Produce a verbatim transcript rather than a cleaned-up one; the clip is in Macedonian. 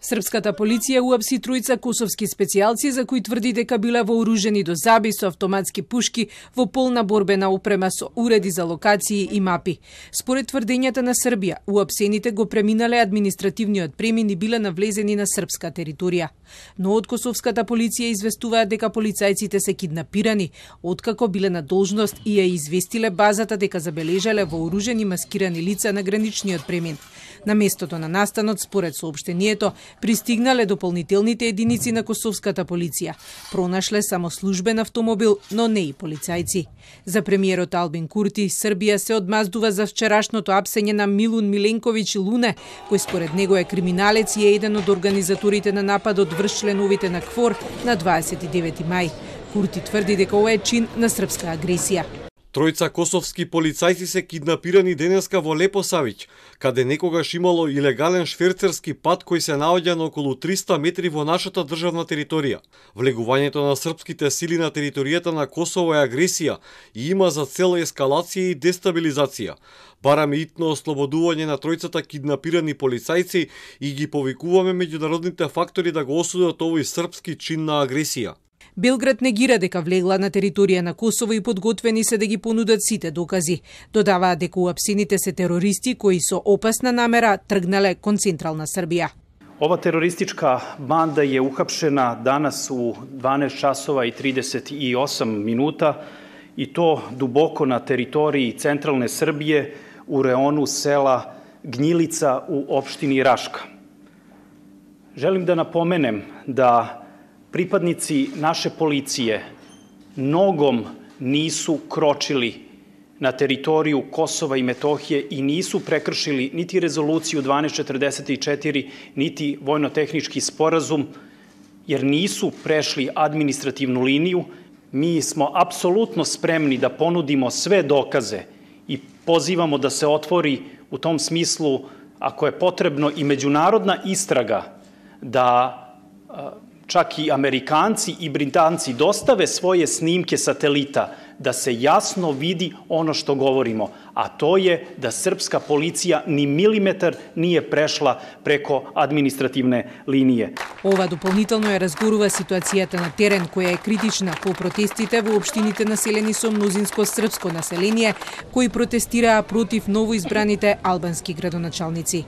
Српската полиција уапси тројца косовски специјалци за кои тврди дека биле вооружени до заби со автоматски пушки во полна борбена опрема со уреди за локации и мапи. Според тврдењата на Србија, уапсените го преминале административниот премин и биле навлезени на српска територија. Но од косовската полиција известуваат дека полицајците се киднапирани, откако биле на должност и ја известиле базата дека забележале вооружени маскирани лица на граничниот премин. На местото на настанот, според соопштението, пристигнале дополнителните единици на косовската полиција. Пронашле само службен автомобил, но не и полицајци. За премиерот Албин Курти, Србија се одмаздува за вчерашното апсење на Милун Миленковиќ Луне, кој според него е криминалец и е еден од организаторите на нападот врз членовите на КФОР на дваесет и девети мај. Курти тврди дека ова е чин на српска агресија. Тројца косовски полицајци се киднапирани денеска во Лепосавиќ, каде некогаш имало илегален шверцерски пат кој се наоѓа на околу триста метри во нашата државна територија. Влегувањето на српските сили на територијата на Косово е агресија и има за цел ескалација и дестабилизација. Бараме итно ослободување на тројцата киднапирани полицајци и ги повикуваме меѓународните фактори да го осудат овој српски чин на агресија. Белград негира дека влегла на територија на Косово и подготвени се да ги понудат сите докази. Додаваат дека уапсените се терористи кои со опасна намера тргнале кон централна Србија. Ова терористичка банда je uhapšena danas u дванаесет časova i trideset i osam minuta i to duboko na teritoriji centralne Srbije u reonu sela Gnjilica u opštini Raška. Želim da napomenem da pripadnici naše policije nogom nisu kročili na teritoriju Kosova i Metohije i nisu prekršili niti rezoluciju dvanaest četrdeset četiri, niti vojno-tehnički sporazum, jer nisu prešli administrativnu liniju. Mi smo apsolutno spremni da ponudimo sve dokaze i pozivamo da se otvori u tom smislu, ako je potrebno, i međunarodna istraga da čak i Amerikanci i Britanci dostave svoje snimke satelita da se jasno vidi ono što govorimo, a to je da srpska policija ni milimetar nije prešla preko administrativne linije. Ова дополнително ја разгорува ситуацијата на терен, која е критична по протестите во општините населени со мнозинско српско население, кои протестираа против новоизбраните албански градоначалници.